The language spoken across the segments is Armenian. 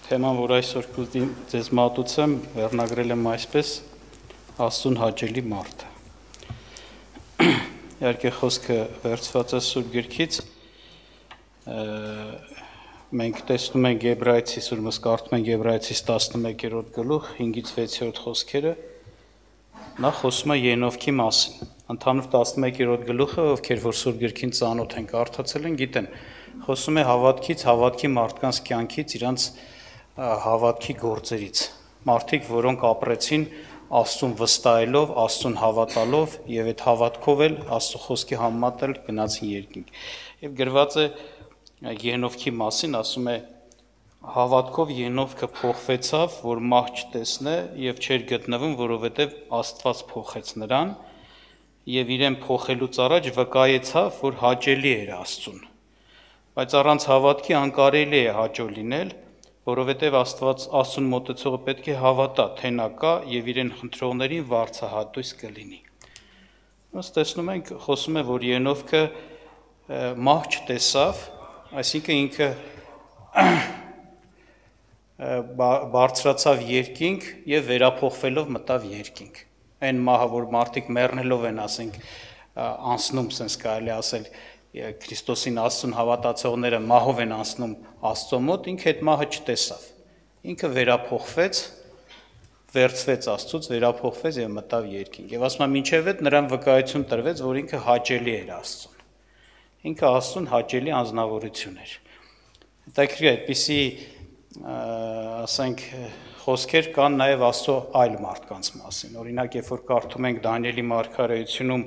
Թեման, որ այսօր կուզի ձեզ մատուցեմ, վերնագրել եմ այսպես Աստծուն հաճելի մարդը։ Իհարկե խոսքը վերցված է Սուրբ Գրքից, մենք տեսնում ենք Եբրայեցիս, ուրեմն կարդում ենք Եբրայեցիս 11-րդ գլուխ 5-ից 6-րդ խոսքերը, նա խոսում է Ենովքի մասին։ Ընդհանուր 11-րդ գլուխը, ովքեր որ Սուրբ Գրքին ծանոթ են, կարդացել են, գիտեն, խոսում է հավատքից, հավատքի մարդկանց կյանքից, իրանց հավատքի գործերից, մարդիկ, որոնք ապրեցին Աստծուն վստահելով, Աստծուն հավատալով եւ այդ հավատքով էլ Աստծո խոսքի համեմատել գնացին երկինք։ Եվ գրված է Ենովքի մասին, ասում է հավատքով Ենովքը փոխվեցավ, որ մահ չտեսնե եւ չէր գտնվում, որովհետեւ Աստված փոխեց նրան եւ իրեն փոխելուց առաջ վկայեցավ, որ հաճելի էր Աստծուն։ Բայց առանց հավատքի անկարելի է հաճո լինել, որովհետև Աստծուն մոտեցողը պետք է հավատա, թե նա կա եւ իրեն խնդրողներին վարձահատույց կլինի։ Ըստ տեսնում ենք, խոսում է, որ Ենովքը մահ չտեսավ, այսինքն ինքը բարձրացավ երկինք եւ վերափոխվելով մտավ երկինք։ Այն մահը, որ մարդիկ մեռնելով են, ասենք, անցնում, sense կարելի ասել, Քրիստոսին Աստծուն հավատացողները մահով են անցնում Աստծո մոտ, ինքը այդ մահը չտեսավ։ Ինքը վերափոխվեց, վերցվեց Աստծուց, վերափոխվեց եւ մտավ երկինք։ Եվ ասում եմ, մինչեւ այդ նրան վկայություն տրվեց, որ ինքը հաճելի էր Աստծուն։ Ինքը Աստծուն հաճելի անձնավորություն էր։ Հետաքրքիր է, այդպիսի, ասենք, խոսքեր կան նաեւ Աստծո այլ մարդկանց մասին։ Օրինակ, երբ որ կարդում ենք Դանիելի մարգարեությունում,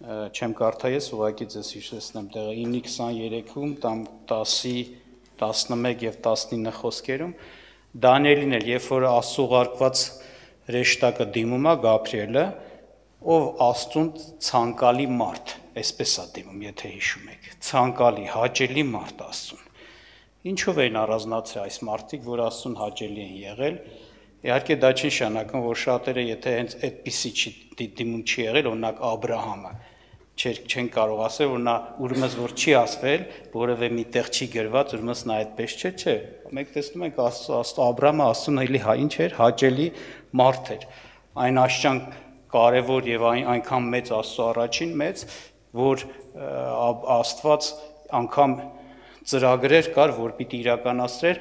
չեմ կարդա ես, ուղղակի ձեզ հիշեցնեմ տեղը 9:23-ում, 10, 11 եւ 19 խոսքերում Դանիելին էր, երբ որ Աստծո ուղարկված հրեշտակը դիմում է Գաբրիելը, ով Աստծուն ցանկալի մարդ, այսպես է դիմում, եթե հիշում եք, ցանկալի, հաճելի մարդ Աստծուն։ Ինչով են առանձնացել այս մարդիկ, որ Աստծուն հաճելի են եղել։ Իհարկե դա չի նշանակում, որ շատերը, եթե հենց այդպիսի դիմում չի եղել, օրինակ Աբրահամը, չեն կարող ասել, որ նա ուրեմն որ չի ասվել, որևէ մի տեղ չի գրված, ուրեմն նա այդպես չէ։ Մենք տեսնում ենք Աբրահամը Աստծուն էլի ինչ էր, հաճելի մարդ էր։ Այն աշճան կարևոր եւ այնքան մեծ Աստծո առաջին մեծ, որ Աստված անգամ ծրագրեր կար, որ պիտի իրականացրեր,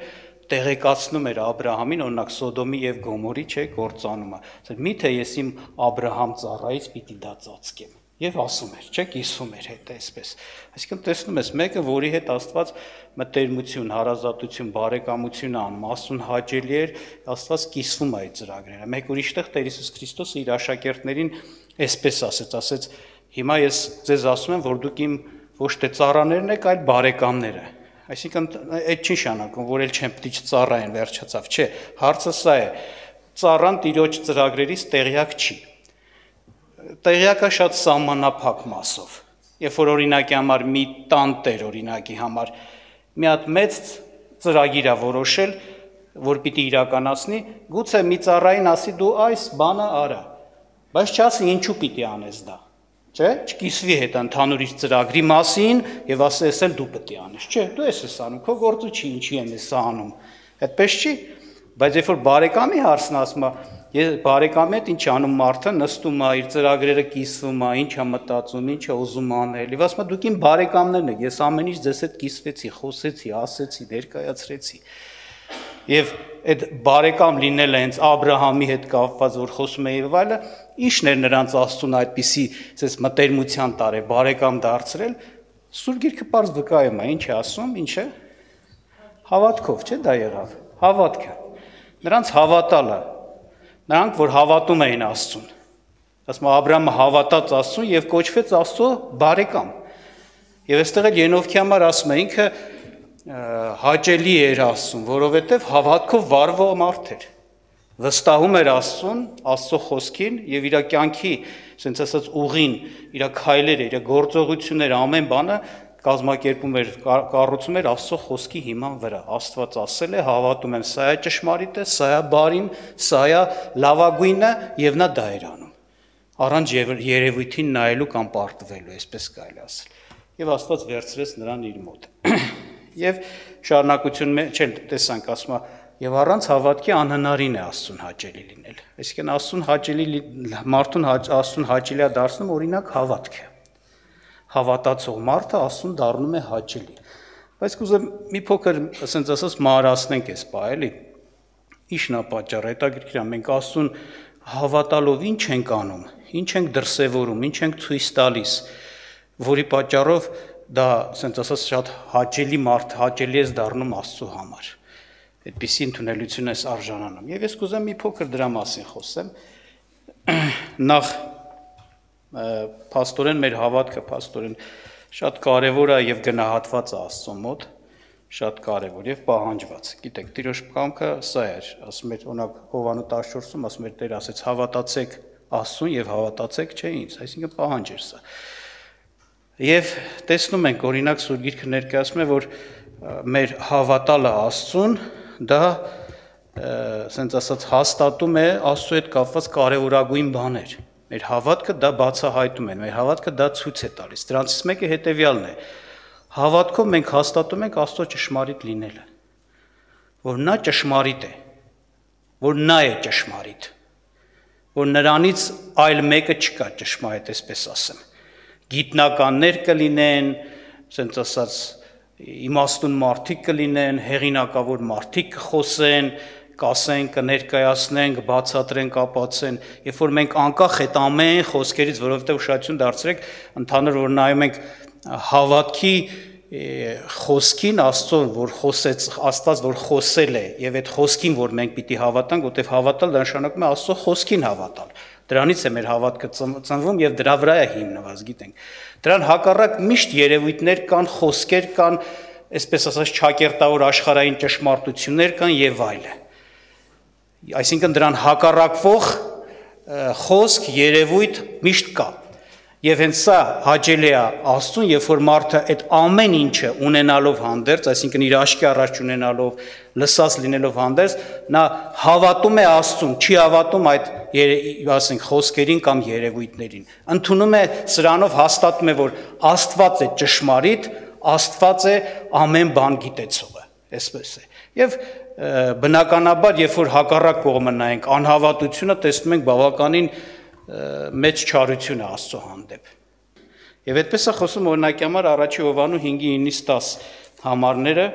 տեղեկացնում էր Աբրահամին, օրինակ Սոդոմի եւ Գոմորի գործանումը։ Միթե ես իմ Աբրահամ ծառայից պիտի դա ծածկեմ։ Եվ ասում էր, չէ՞, կիսվում էր հետ այսպես։ Այսինքն տեսնում ես, մեկը, որի հետ Աստված մտերմություն, հարազատություն, բարեկամություն անում, Աստծուն հաճելի էր, Աստված կիսվում է այդ ծրագրերը։ Մեկ ուրիշտեղ Տեր Հիսուս Քրիստոսը իր աշակերտներին այսպես ասեց, հիմա ես ձեզ ասում եմ, որ դուք իմ ոչ թե ծառաներն եք, այլ բարեկամները։ Այսինքն այդ չի նշանակում, որ էլ չեմ պիտի չծառայեն, վերջացավ, չէ, հարցը սա է, ծառան Տիրոջ ծրագրերից տեղյակ չի։ Տեղյակա շատ սահմանափակ մասով։ Երբ որ օրինակի համար մի տանտեր օրինակի համար մի հատ մեծ ծրագիր է որոշել, որ պիտի իրականացնի, գուցե մի ծառային ասի դու այս բանը արա, բայց չասի ինչու պիտի անես դա։ Չէ, չկիսվի հետ ընդհանուր իր ծրագրի մասին եւ ասես էլ դու պետք է անես, չէ, դու ես անում, քո գործը չի, ինչի եմ ես անում։ Այդպես չի, բայց երբ որ բարեկամի հարցն ասում է, ես բարեկամի հետ ինչ անում մարդը, նստում է, իր ծրագրերը կիսվում է, ինչ է մտածում, ինչ է ուզում անել։ Եվ ասում է դուք իմ բարեկամներն եք, ես ամեն ինչ ձեզ հետ կիսվեցի, խոսեցի, ասեցի, ներկայացրեցի։ Եվ այդ բարեկամ լինելը հենց Աբրահամի հետ կապված, որ խոսում է եւ այլը, ի՞նչն էր նրանց Աստծուն այդպիսի, ասես մտերմության տարե բարեկամ դարձրել, Սուրբ Գիրքը պարզ վկայում է, ինչ է ասում, ինչ է հավատքով, չէ՞ դա եղավ, հավատքը, նրանց հավատալը, նրանք որ հավատում էին Աստծուն, ասում Աբրահամը հավատաց Աստծուն եւ կոչվեց Աստծո բարեկամ, եւ այստեղ էլ Ենովքի համար ասում է ինքը հաճելի էր Աստծուն, որովհետև հավատքով վարվող մարդ էր, վստահում էր Աստծուն, Աստծո խոսքին եւ իր կյանքի, ասենց ասած ուղին, իր քայլերը, իր գործողությունները, ամեն բանը կազմակերպում էր, կառուցում էր Աստծո խոսքի հիման վրա։ Աստված ասել է, հավատում եմ, սա է ճշմարիտ է, սա է բարին, սա է լավագույնը եւ նա դա էր անում։ Առանց երևույթին նայելու կամ պարտվելու, այսպես կարելի ասել։ Եվ Աստված վերցրեց նրան իր մոտ։ Եվ շարունակություն չեն տեսանք, ասում է եւ առանց հավատքի անհնարին է Աստծուն հաճելի լինել։ Այսինքն Աստծուն հաճելի է դարձնում օրինակ հավատքը։ Հավատացող մարդը Աստծուն դառնում է հաճելի։ Բայց կուզեմ մի փոքր, ասենց ասած, մանրացնենք այս բա, էլի։ Ինչն է պատճառը, հետաքրքիր է, մենք Աստծուն հավատալով ինչ ենք անում, ինչ ենք դրսևորում, ինչ ենք ցույց տալիս, որի պատճառով դա, ասենց ասած, շատ հաճելի մարդ, հաճելի է դառնում Աստծու համար։ Այդպիսի ընդունելություն ես արժանանում։ Եվ ես կուզեմ մի փոքր դրա մասին խոսեմ։ Նախ փաստորեն մեր հավատքը փաստորեն շատ կարևոր է եւ գնահատված է Աստծո մոտ, շատ կարևոր եւ պահանջված։ Գիտեք, Տիրոջ կամքը սա էր, ասում էր օրինակ Հովանու 14-ում, ասում էր Տեր ասեց հավատացեք Աստծուն եւ հավատացեք չէ ինձ, այսինքն պահանջ էր սա։ Եվ տեսնում ենք օրինակ Սուրբ Գիրքը ներկայացնում է, որ մեր հավատալը Աստծուն դա ասենց ասած հաստատում է Աստծո հետ կապված կարևորագույն բաներ։ Մեր հավատքը դա բացահայտում է, մեր հավատքը դա ցույց է տալիս։ Դրանցից մեկը հետևյալն է. հավատքով մենք հաստատում ենք Աստծո ճշմարիտ լինելը, որ նա ճշմարիտ է, որ նա է ճշմարիտ, որ նրանից այլ մեկը չկա ճշմարիտ, այսպես ասեմ։ Գիտնականներ կլինեն, ասենց ասած իմաստուն մարդիկ կլինեն, հեղինակավոր մարդիկ կխոսեն, կասեն, կներկայացնեն, կբացատրեն, կապացեն, երբ որ մենք անկախ այդ ամեն խոսքերից, որովհետև ուշադրություն դարձրեք, ընդհանուր որ նայում ենք հավատքի խոսքին Աստծուն, որ խոսեց, Աստված որ խոսել է, եւ այդ խոսքին, որ մենք պիտի հավատանք, որտեղ հավատալ դա նշանակում է Աստծո խոսքին հավատալ։ Դրանից է մեր հավատքը ծնվում եւ դրա վրա է հիմնված, գիտենք։ Դրան հակառակ միշտ երևույթներ կան, խոսքեր կան, այսպես ասած ճակերտավոր աշխարհային ճշմարտություններ կան եւ այլը։ Այսինքն դրան հակառակվող խոսք, երևույթ միշտ կա։ Եվ հենց սա հաճելի է Աստծուն, երբ որ մարդը այդ ամեն ինչը ունենալով հանդերձ, այսինքն իր աչքի առաջ ունենալով, լսած լինելով հանդերձ, նա հավատում է Աստծուն, չի հավատում այդ, ասենք, խոսքերին կամ երևույթներին։ Ընդունում է սրանով հաստատում է, որ Աստված է ճշմարիտ, Աստված է ամեն բան գիտեցողը, այսպես է։ Եվ բնականաբար, երբ որ հակառակ կողմը նայենք, անհավատությունը տեսնում ենք բավականին մեծ չարություն է Աստծո հանդեպ։ Եվ այդպես է խոսում օրինակի համար առաջի Հովանու 5:9-10 համարները,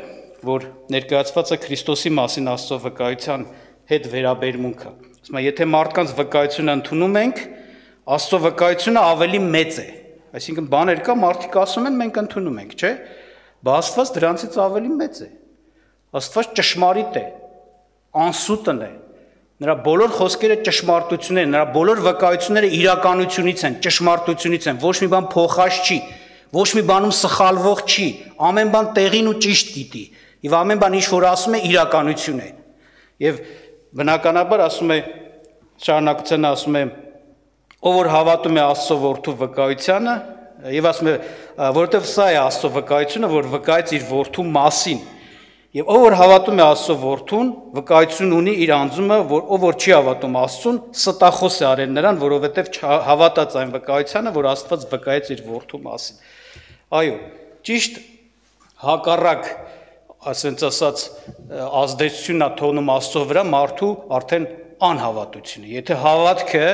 որ ներկայացված է Քրիստոսի մասին Աստծո վկայության հետ վերաբերմունքը։ Ասում է, եթե մարդկանց վկայությունը ընդունում ենք, Աստծո վկայությունը ավելի մեծ է։ Այսինքն բաներ կա, մարդիկ ասում են, մենք ընդունում ենք, չէ՞։ Բա Աստված դրանցից ավելի մեծ է։ Աստված ճշմարիտ է, անսուտն է։ Նրա բոլոր խոսքերը ճշմարտություն են, նրա բոլոր վկայությունները իրականությունից են, ճշմարտությունից են, ոչ մի բան փոխած չի, ոչ մի բանում սխալվող չի, ամեն բան տեղին ու ճիշտ գիտի, եւ ամեն բան ինչ որ ասում է իրականություն է։ Եվ բնականաբար ասում է, շարունակությունն ասում է, ով որ հավատում է Աստծո որդու վկայությանը, եւ ասում է, որովհետեւ սա է Աստծո վկայությունը, որ վկայեց իր որդու մասին։ Եվ ով որ հավատում է Աստծո որդուն, վկայություն ունի իր անձումը, ով որ չի հավատում Աստծուն, ստախոս է արել նրան, որովհետև հավատաց այն վկայությանը, որ Աստված վկայեց իր որդու մասին։ Այո, ճիշտ հակառակ, ասենց ասած, ազդեցությունն է թողնում Աստծո վրա մարդու արդեն անհավատությունը։ Եթե հավատքը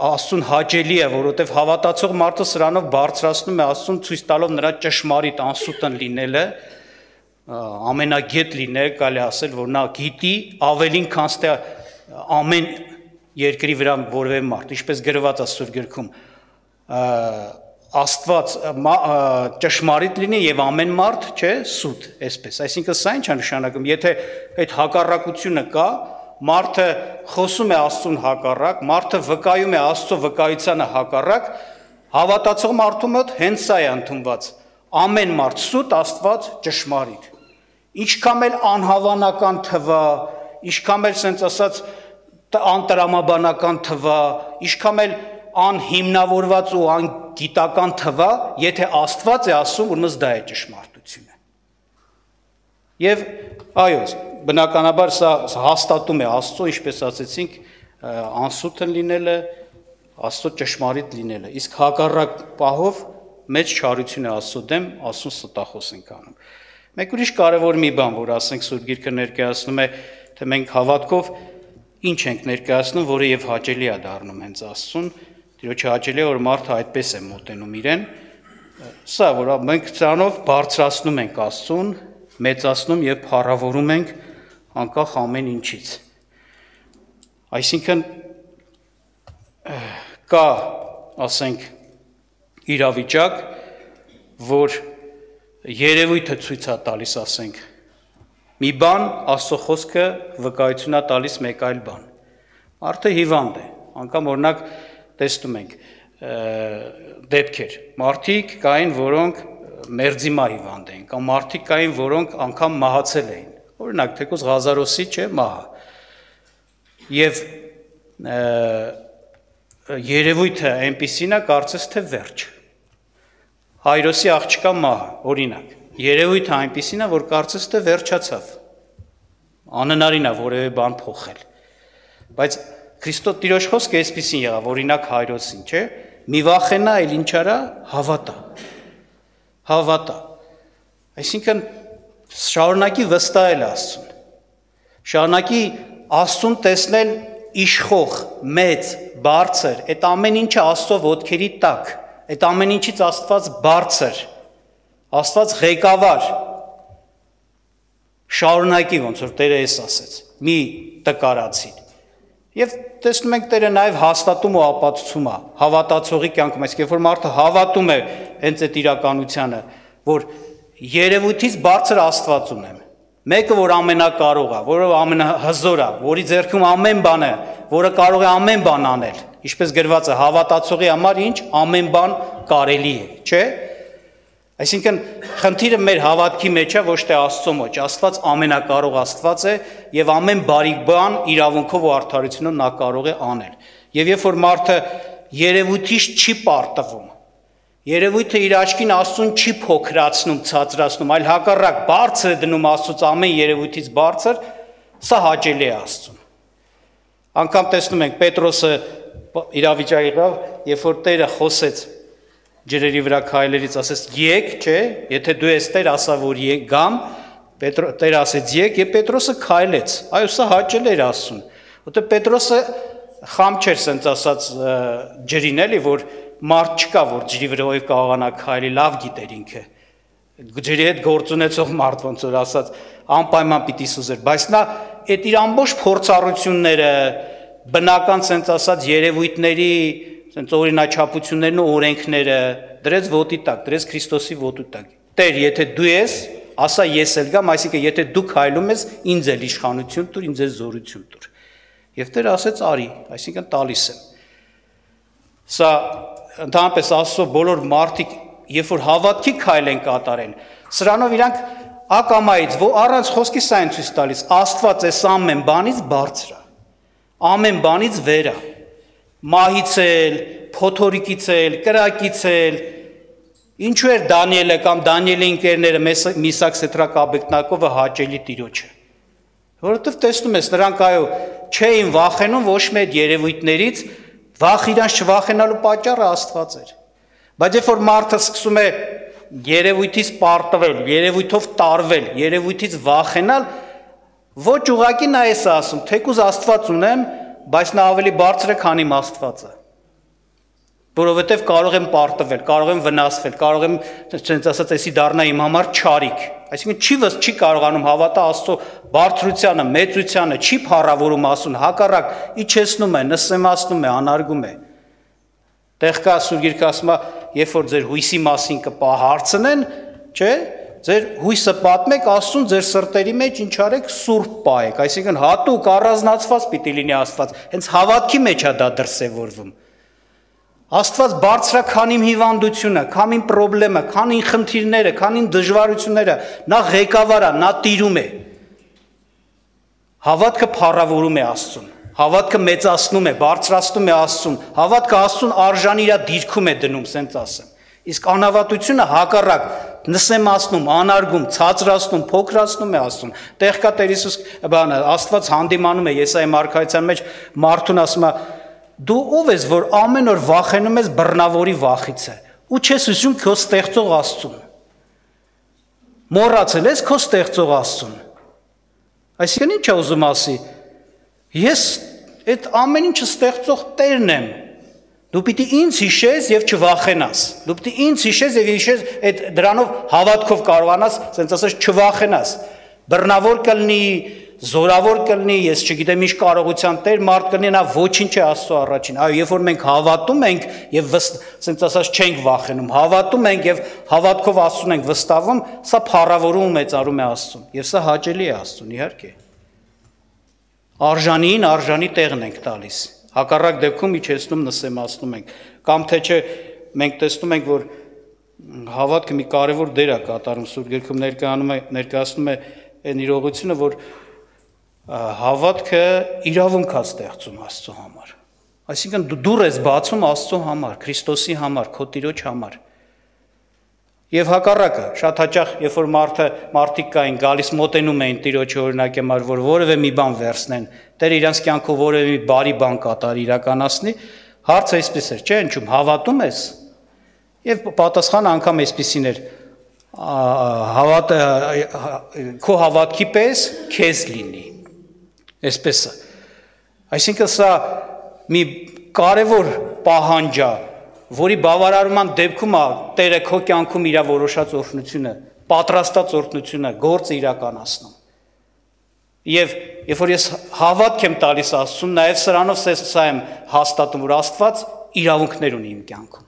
Աստծուն հաճելի է, որովհետև հավատացող մարդը սրանով բարձրացնում է Աստծուն, ցույց տալով նրա ճշմարիտ անսուտն լինելը, ամենագետ լինել, կարելի ասել, որ նա գիտի ավելին, քան թե ամեն երկրի վրա որևէ մարդ, ինչպես գրված է Սուրբ Գրքում, Աստված ճշմարիտ լինի եւ ամեն մարդ, չէ, սուտ, այսպես։ Այսինքն սա ինչ է նշանակում, եթե այդ հակառակությունը կա, մարդը խոսում է Աստծուն հակառակ, մարդը վկայում է Աստծո վկայությանը հակառակ, հավատացող մարդու մոտ հենց սա է ընդունված։ Ամեն մարդ սուտ, Աստված ճշմարիտ։ Ինչքան էլ անհավանական թվա, ինչքան էլ sense ասած անտրամաբանական թվա, ինչքան էլ անհիմնավորված ու անգիտական թվա, եթե Աստված է ասում, ուրեմն դա է ճշմարտությունը։ Եվ այո, բնականաբար սա հաստատում է Աստծո, ինչպես ասեցինք, անսուտն լինելը, Աստծո ճշմարիտ լինելը, իսկ հակառակ պահով մեծ չարություն է Աստծո դեմ, Աստծուն ստախոս ենք անում։ Մեկ ուրիշ կարևոր մի բան, որ ասենք Սուրբ Գիրքը ներկայացնում է, թե մենք հավատքով ինչ ենք ներկայացնում, որը եւ հաճելի է դառնում հենց Աստծուն, Տիրոջը հաճելի է, որ մարդը այդպես է մոտենում իրեն, սա որ մենք դրանով բարձրացնում ենք Աստծուն, մեծացնում եւ փառավորում ենք անկախ ամեն ինչից։ Այսինքն կա, ասենք, իրավիճակ, որ երևույթը ցույց է տալիս, ասենք, մի բան, Աստծո խոսքը վկայություն է տալիս մեկ այլ բան։ Մարդը հիվանդ է, անգամ օրինակ տեսնում ենք դեպքեր, մարդիկ կային, որոնք մերձիմա հիվանդ էին, կամ մարդիկ կային, որոնք անգամ մահացել էին, օրինակ թեկուզ Ղազարոսի չէ մահը, եւ երևույթը այնպիսին է, կարծես թե վերջ, Հայրոսի աղջկա մահը, օրինակ, երևույթը այնպիսին է, որ կարծես թե վերջացավ, անհնարին է որևէ բան փոխել, բայց Քրիստոս Տիրոջ խոսքը այսպիսին եղավ, օրինակ Հայրոսին, չէ, մի վախենա, այլ ինչ արա, հավատա, այսինքն շարունակի վստահել Աստծուն, շարունակի Աստծուն տեսնել իշխող, մեծ, բարձր, այդ ամեն ինչը Աստծո ոտքերի տակ, այդ ամեն ինչից Աստված բարձր, Աստված ղեկավար, շարունակի ոնց որ Տերը էս ասեց, մի տկարացին, եւ տեսնում ենք Տերը նաեւ հաստատում ու ապացուցում է հավատացողի կյանքում, այսինքն երբ որ մարդը հավատում է հենց այդ իրականությանը, որ երևույթից բարձր Աստված ունեմ, մեկը որ ամենակարող է, որը ամենահզոր է, որի ձեռքում ամեն բան է, որը կարող է ամեն բան անել, ինչպես գրված է, հավատացողի համար ինչ ամեն բան կարելի է, չէ՞։ Այսինքն խնդիրը մեր հավատքի մեջ է, ոչ թե Աստծո մեջ, Աստված ամենակարող Աստված է եւ ամեն բարիք բան իրավունքով ու արդարությունով նա կարող է անել։ Եվ երբ որ մարդը երևույթից չի պարտվում, երևույթը իր աչքին Աստծուն չի փոքրացնում, ցածրացնում, այլ հակառակ բարձր է դնում Աստծուց ամեն երևույթից բարձր, սա հաճելի է Աստծուն։ Անկամ տեսնում ենք Պետրոսը իրավիճակի եղավ, երբ որ Տերը խոսեց ջրերի վրա քայլերից, ասես եկ, չէ, եթե դու ես Տեր, ասա որ եկ գամ, Տերը ասեց եկ, եւ Պետրոսը քայլեց, այո, սա հաճելի էր Աստծուն, որտեղ Պետրոսը խամ չէր սենց ասած ջրին էլի, որ մարդ չկա, որ ջրի վրայով կարողանա քայլի, լավ գիտեր ինքը, ջրի հետ գործ ունեցող մարդ ոնց որ ասած, անպայման պիտի սուզեր, բայց նա այդ իր ամբողջ փորձառությունները, բնական սենց ասած երևույթների Սենց օրինաչափություններն ու օրենքները դրեց ոտի տակ, դրեց Քրիստոսի ոտի տակ։ Տեր, եթե դու ես, ասա ես էլ գամ, այսինքն եթե դու քայլում ես, ինձ էլ իշխանություն տուր, ինձ էլ զորություն տուր։ Եվ Տերը ասեց արի, այսինքն տալիս եմ։ Սա ընդհանրապես Աստծո բոլոր մարդիկ, երբ որ հավատքի քայլ են կատարել, սրանով իրանք ակամայից, առանց խոսքի սա են ցույց տալիս, Աստված էս ամեն բանից բարձր է, ամեն բանից վեր է։ Մահից էլ, փոթորիկից էլ, կրակից էլ, ինչու էր Դանիելը կամ Դանիելի ընկերները Միսակ Սեդրակ Աբեդնագովը հաճելի Տիրոջը, որովհետև տեսնում ես, նրանք այո չէին վախենում ոչ մի այդ երևույթներից, վախ իրանց չվախենալու պատճառը Աստված էր, բայց երբ որ մարդը սկսում է երևույթից պարտվել, երևույթով տարվել, երևույթից վախենալ, ոչ ուղղակի նա էս ասում, թեկուզ Աստված ունեմ, բայց նա ավելի բարձր է, քան իմ Աստվածը, որովհետև կարող եմ պարտվել, կարող եմ վնասվել, կարող եմ, ցենց ասած, էսի դառնա իմ համար չարիք, այսինքն չի կարողանում հավատա Աստծո բարձրությանը, մեծությանը, չի փառավորում Աստծուն, հակառակ իջեցնում է, նսեմացնում է, անարգում է։ Տեղ կա Սուրբ Գիրքը ասում է, երբ որ ձեր հույսի մասին կհարցնեն, չէ՞, ձեր հույսը պատմեք Աստծուն ձեր սրտերի մեջ ինչ արեք սուրբ պահեք, այսինքն հատուկ առանձնացված պիտի լինի Աստված, հենց հավատքի մեջ է դա դրսևորվում։ Աստված բարձր է, քան իմ հիվանդությունը, քան իմ խնդիրը, քան իմ խնդիրները, քան իմ դժվարությունները, նա ղեկավար է, նա տիրում է։ Հավատքը փառավորում է Աստծուն, հավատքը մեծացնում է, բարձրացնում է Աստծուն, հավատքը Աստծուն արժանի իր դիրքում է դնում, սենց ասեմ։ Իսկ անհավատությունը հակառակ նսեմացնում, անարգում, ցածրացնում, փոքրացնում է Աստծուն։ Տեղ կա Տեր Հիսուս Աստված հանդիմանում է Եսայի մարգարեության մեջ, մարդուն ասում է. դու ով ես, որ ամեն օր վախենում ես բռնավորի վախից է, ու չես հիշում քո ստեղծող Աստծուն։ Մոռացել ես քո ստեղծող Աստծուն։ Այսինքն ինչ է ուզում ասի։ Ես այդ ամեն ինչը ստեղծող Տերն եմ։ Դու պիտի ինձ հիշես եւ չվախենաս։ Դու պիտի ինձ հիշես եւ հիշես այդ դրանով հավատքով կարողանաս, ասենց ասած չվախենաս։ Բռնավոր կլինի, զորավոր կլինի, ես չգիտեմ ինչ կարողության Տեր մարդ կլինի, նա ոչինչ է Աստծո առաջին։ Այո, երբ որ մենք հավատում ենք եւ ասենց ասած չենք վախենում, հավատում ենք եւ հավատքով Աստծուն ենք վստահում, սա փառավորում ու մեծարում է Աստծուն եւ սա հաճելի է Աստծուն, իհարկե։ Արժանին արժանի տեղն ենք տալիս։ Հակառակ դեպքում իջեցնում նսեմացնում ենք, կամ թե չէ մենք տեսնում ենք, որ հավատքը մի կարևոր դեր է կատարում Սուրբ Գրքում ներկայացնում է այն իրողությունը, որ հավատքը իրավունք է ստեղծում Աստծո համար։ Այսինքն դու դուռ ես բացում Աստծո համար, Քրիստոսի համար, քո Տիրոջ համար։ Եվ հակառակը, շատ հաճախ, երբ որ մարդիկ կային գալիս մոտենում էին Տիրոջը օրինակի համար, որ որևէ մի բան վերցնեն, Տերը իրանց կյանքով որևէ մի բարի բան կատարի, իրականացնի, հարցը այսպես էր, չէ՞, ինչու՞մ հավատում ես։ Եվ պատասխանը անգամ այսպեսին էր. քո հավատքի պես քեզ լինի։ Այսպես է։ Այսինքն սա մի կարևոր պահանջ է, որի բավարարման դեպքում է Տերը քո կյանքում իր որոշած օրհնությունը, պատրաստած օրհնությունը, գործը իրականացնում։ Եվ երբ որ ես հավատք եմ տալիս Աստծուն, նաև սրանով սա եմ հաստատում, որ Աստված իրավունքներ ունի իմ կյանքում։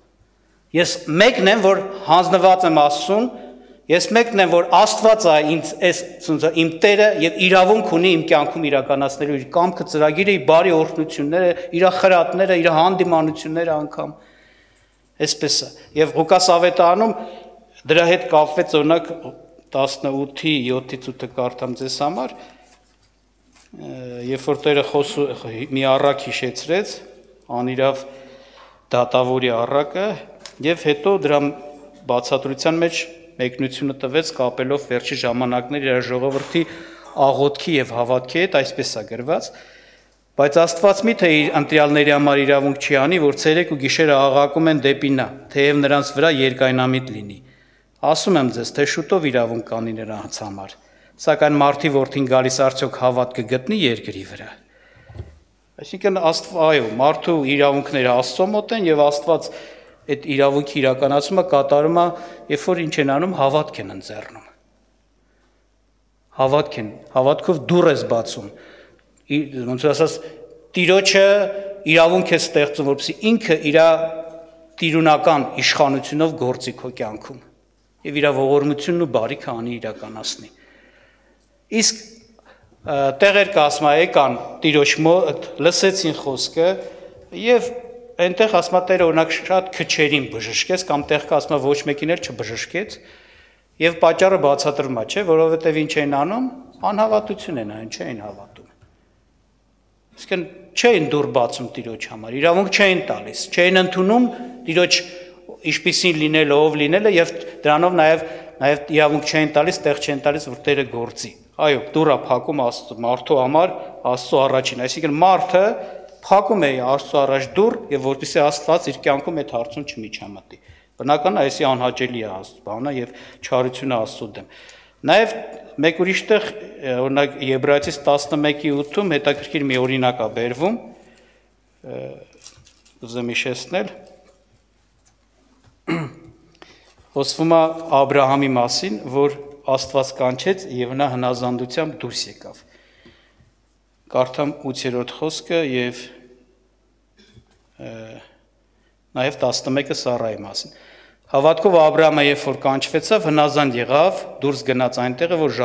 Ես մեկն եմ, որ հանձնված եմ Աստծուն, ես մեկն եմ, որ Աստված է իմ Տերը եւ իրավունք ունի իմ կյանքում իրականացնելու իր կամքը, ծրագիրը, իր բարի օրհնությունները, իր խրատները, իր հանդիմանությունները անգամ։ Այսպես է։ Եվ Ղուկաս ավետարանում դրա հետ կապվեց օրինակ 18:7-8 կարդամ ձեզ համար, երբ որ Տերը մի առակ հիշեցրեց, անիրավ դատավորի առակը, եւ հետո դրա բացատրության մեջ մեկնությունը տվեց կապելով վերջի ժամանակներ իր ժողովրդի աղոթքի եւ հավատքի հետ, այսպես է գրված, բայց Աստված մի թե իր ընտրյալների համար իրավունք չի անի, որ ցերեկ ու գիշերը աղաղակում են դեպի նա, թեև նրանց վրա երկայնամիտ լինի։ Ասում եմ ձեզ, թե շուտով իրավունք կանի նրանց համար, սակայն մարդի որդին գալիս արդյոք հավատ կգտնի երկրի վրա։ Այսինքն այո, մարդու իրավունքները Աստծո մոտ են եւ Աստված այդ իրավունքի իրականացումը կատարում է, երբ որ ինչ են անում, հավատք են ընձեռնում։ Հավատքով դուռ ես բացում։ Ոնց ասած, Տիրոջը իրավունք է ստեղծում, որպեսզի ինքը իր տիրունական իշխանությունով գործի քո կյանքում եւ իր ողորմությունն ու բարիքը անի իրականացնի։ Իսկ տեղեր կասма եկան Տիրոջ մոտ, լսեցին խոսքը եւ այնտեղ ասма Տերը օրինակ շատ քչերին բժշկեց կամ տեղ կասма ոչ մեկին էլ չբժշկեց եւ պատճառը բացատրվում է, չէ, որովհետեւ ինչ են անում, անհավատություն են, այն չէին հավատում։ Իսկն չէին դուռ բացում Տիրոջ համար, իրավունք չէին տալիս, չէին ընդունում Տիրոջ ինչպիսին լինելը, ով լինելը եւ դրանով նաեւ իրավունք չէին տալիս, տեղ չէին տալիս, որ Տերը գործի։ Այո, դուռը փակում մարդու համար Աստծո առաջին, այսինքն մարդը փակում է Աստծո առաջ դուռ եւ որպեսզի Աստված իր կյանքում այդ հարցում չմիջամտի։ Բնական է, այսի անհաճելի է բանը եւ չարությունը Աստծո դեմ։ Նաեւ մեկ ուրիշ տեղ, օրինակ Եբրայեցիս 11:8-ում հետաքրքիր մի օրինակ է բերվում, ուզում հիշեցնել, խոսվում է Աբրահամի մասին, որ Աստված կանչեց եւ նա հնազանդությամբ դուրս եկավ։ Կարդամ 8-րդ խոսքը եւ նաեւ 11-ը Սարայի մասին։ Հավատքով Աբրահամը, երբ որ կանչվեցավ, հնազանդ եղավ, դուրս գնաց այնտեղը, որ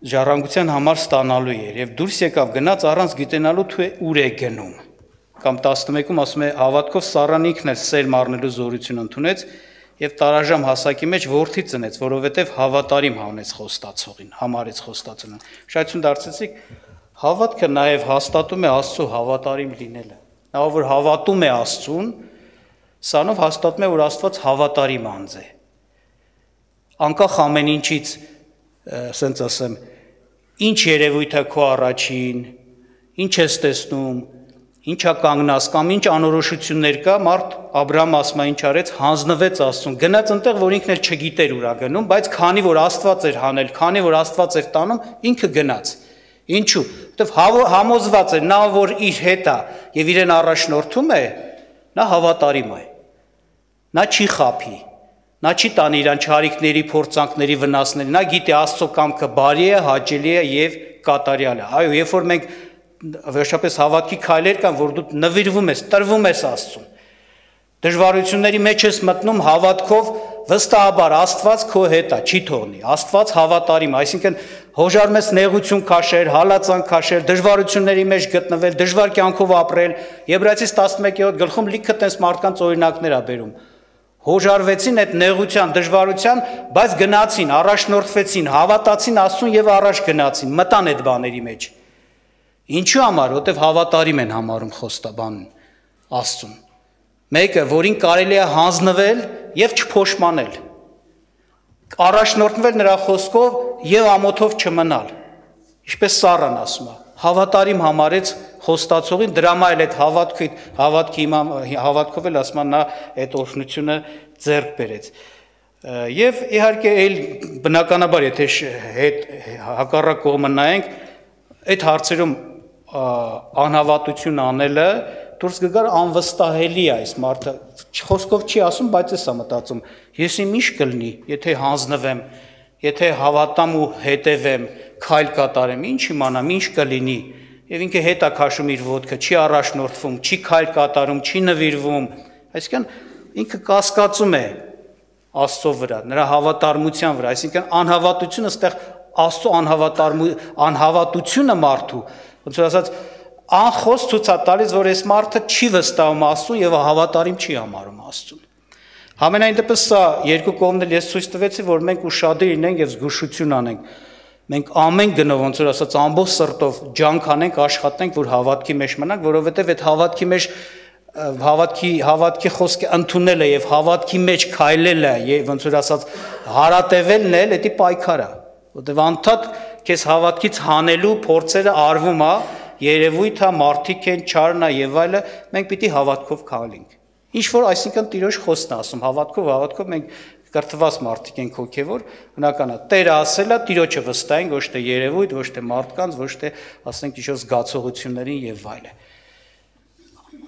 ժառանգության համար ստանալու էր, եւ դուրս եկավ գնաց առանց գիտենալու թե ուր է գնում։ Կամ 11-ում ասում է, հավատքով Սառան ինքն էլ սեր մառնելու զորություն ընդունեց եւ տարաժամ հասակի մեջ որդի ծնեց, որովհետեւ հավատարիմ հանեց խոստացողին, համարեց խոստացողին։ Շայթուն դարձեցիք, հավատքը նաեւ հաստատում է Աստծո հավատարիմ լինելը։ Նա որ հավատում է Աստծուն, սրանով հաստատում է, որ Աստված հավատարիմ անձ է։ Անկախ ամեն ինչից, ասենց ասեմ, ինչ երևույթ է քո առաջին, ինչ ես տեսնում, ինչա կանգնած կամ ինչ անորոշություններ կա, մարդ Աբրահամ ասում է ինչ արեց, հանձնվեց Աստծուն, գնաց այնտեղ, որ ինքն էլ չգիտեր ուր է գնում, բայց քանի որ Աստված էր հանել, քանի որ Աստված էր տանում, ինքը գնաց։ Ինչու՞, որովհետև համոզված էր, նա որ իր հետ է եւ իրեն առաջնորդում է, նա հավատարիմ է։ Նա չի խափի, նա չի տանի իրան չարիքների, փորձանքների, վնասների, նա գիտի Աստծո կամքը բարի է, հաճելի է եւ կատարյալ է։ Այո, երբ որ մենք վերջապես հավատքի քայլեր կան, որ դու նվիրվում ես, տրվում ես Աստծուն։ Դժվարությունների մեջ ես մտնում հավատքով, վստահաբար Աստված քո հետ է, չի թողնի։ Աստված հավատարիմ է, այսինքն հոժարում ես նեղություն քաշել, հալածան քաշել, դժվարությունների մեջ գտնվել, դժվար կյանքով ապրել։ Եբրայեցիս 11-րդ գլխում լիքը տես մարդկանց օրինակներ է բերում։ Հոժարվեցին այդ նեղության, դժվարության, բայց գնացին, առաջնորդվեցին, հավատացին Աստծուն եւ առաջ գնացին, մտան այդ բաների մեջ։ Ինչու համար, որտեվ հավատարիմ են համարում խոստաբանն Աստծուն։ Մեկը, որին կարելի է հանձնվել եւ չփոշմանել, առաջնորդվել նրա խոսքով եւ ամոթով չմնալ, ինչպես Սառան ասում է, հավատարիմ համարեց խոստացողին, դրամա էլ այդ հավատքով էլ ասում է նա այդ օրհնությունը ձեռք բերեց։ Եվ իհարկե այլ բնականաբար եթե հակառակ կողմը նայենք, այդ հարցերում անհավատություն անելը դուրս կգար անվստահելի է այս մարդը, խոսքով չի ասում, բայց էս է մտածում, ես իմ ինչ կլինի, եթե հանձնվեմ, եթե հավատամ ու հետևեմ, քայլ կատարեմ, ինչ իմանամ, ինչ կլինի, եւ ինքը հետ է քաշում իր ոտքը, չի առաջնորդվում, չի քայլ կատարում, չի նվիրվում, այսինքն ինքը կասկածում է Աստծո վրա, նրա հավատարմության վրա, այսինքն անհավատությունը այստեղ Աստծո անհավատությունը մարդու, ոնց որ ասած անխոս ցույց է տալիս, որ այս մարդը չի վստահում Աստծուն եւ հավատարիմ չի համարում Աստծուն։ Համենայն դեպս սա երկու կողմն էլ ես ցույց տվեցի, որ մենք ուշադիր լինենք եւ զգուշություն անենք։ Մենք ամեն գնով ոնց որ ասած ամբողջ սրտով ջանք անենք, աշխատենք, որ հավատքի մեջ մնանք, որովհետեւ այդ հավատքի մեջ հավատքի խոսքը ընդունելը եւ հավատքի մեջ քայլելը եւ ոնց որ ասած հարատևելն էլ դա պայքար է, որովհետեւ անդադ քեզ հավատքից հանելու փորձերը արվում է, երևույթ է, մարդիկ են, չարն է եւ այլը, մենք պիտի հավատքով քայլենք։ Ինչ որ այսինքն Տիրոջ խոսքն է ասում, հավատքով մենք կրթված մարդիկ ենք հոգեվոր, բնական է, Տերը ասել է, Տիրոջը վստահենք, ոչ թե երևույթ, ոչ թե մարդկանց, ոչ թե ասենք ինչ-որ զգացողություններին եւ այլը։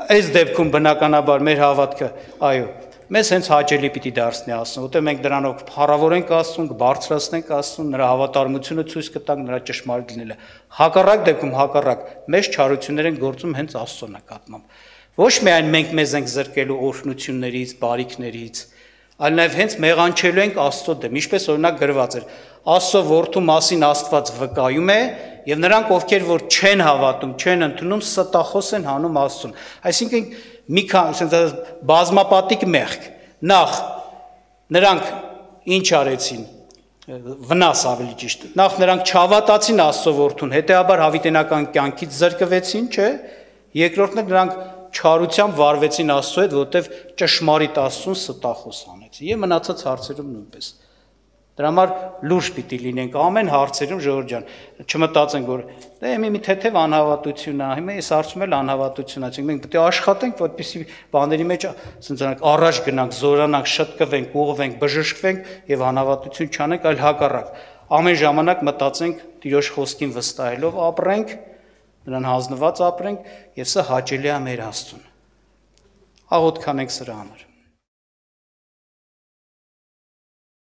Այս դեպքում բնականաբար մեր հավատքը, այո, մեզ հենց հաճելի պիտի դարձնի Աստծուն, որտեղ մենք դրանով փառավորենք Աստծուն, կբարձրացնենք Աստծուն, նրա հավատարմությունը ցույց կտանք, նրա ճշմարիտ լինելը։ Հակառակ դեպքում հակառակ, մեծ չարություններ են գործում հենց Աստծո նկատմամբ։ Ոչ միայն մենք մեզ ենք զրկելու օրհնություններից, բարիքներից, այլ նաև հենց մեղանչելու ենք Աստծո դեմ, ինչպես օրինակ գրված էր. Աստծո որդու մասին Աստված վկայում է, եւ նրանք, ովքեր որ չեն հավատում, չեն ընդունում, ստախոս են հանում Աստծուն։ Այսինքն մի քանի բազմապատիկ մեղք։ Նախ նրանք ինչ արեցին, վնաս ավելի ճիշտ։ Նախ նրանք չհավատացին Աստծո որդուն, հետեւաբար հավիտենական կյանքից զրկվեցին, չէ՞։ Երկրորդն նրանք չարությամբ վարվեցին Աստծո հետ, որտեվ ճշմարիտ Աստծուն ստախոս անեցին։ Եվ մնացած հարցերում նույնպես։ Դրա համար լուրջ պիտի լինենք ամեն հարցերում, Ժողովուրդ ջան, չմտածենք, որ դե մի թեթև անհավատություն է, հիմա այս հարցում էլ անհավատություն է, մենք պետք է աշխատենք, որպեսզի բաների մեջ առաջ գնանք, զորանանք, շտկվենք, ուղղվենք, բժշկվենք եւ անհավատություն չանենք, այլ հակառակ։ Ամեն ժամանակ մտածենք Տիրոջ խոսքին վստահելով ապրենք, նրան հանձնված ապրենք եւ սա հաճելի է մեր Աստծուն։ Աղոթք անենք սրա համար։